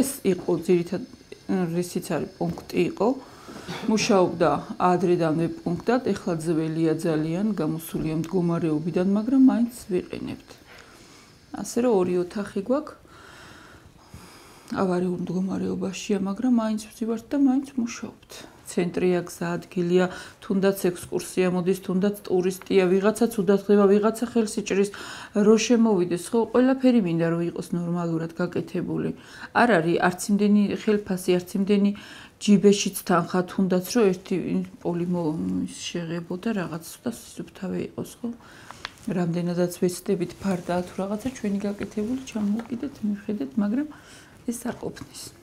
ეს იყო ძირითად რისიც არის პუნქტი იყო. მუშაობდა ადრედანვე პუნქტად, ეხლა ძველია ძალიან, გამოსულია მდგომარეობიდან, მაგრამ მაინც ვიყენებთ. ასე რომ ორი ოთახი გვაქვს. ავარიულ მდგომარეობაშია, მაგრამ მაინც ვზივართ და მაინც მუშაობთ. ცენტრია, გზა ადგილია, თუნდაც ექსკურსია მოდის, თუნდაც ტურისტია, ვიღაცა ცუდად ხდება, ვიღაცა ხელს იჭრის, რო შემოვიდეს, ხო, ყველაფერი მინდა რომ იყოს ნორმალურად გაკეთებული. არ არის არც იმდენი ხელფასი, არც იმდენი ჯიბეშიც თანხა, თუნდაც რომ ერთი პოლიმო შეღებო და რაღაც და სუფთავე იყოს, ხო? რამდენადაც ვეცდებით ფარდაა თუ რაღაცა ჩვენი გაკეთებული ჩამოვკიდეთ, მივხედეთ, მაგრამ ეს არ ყოფნის.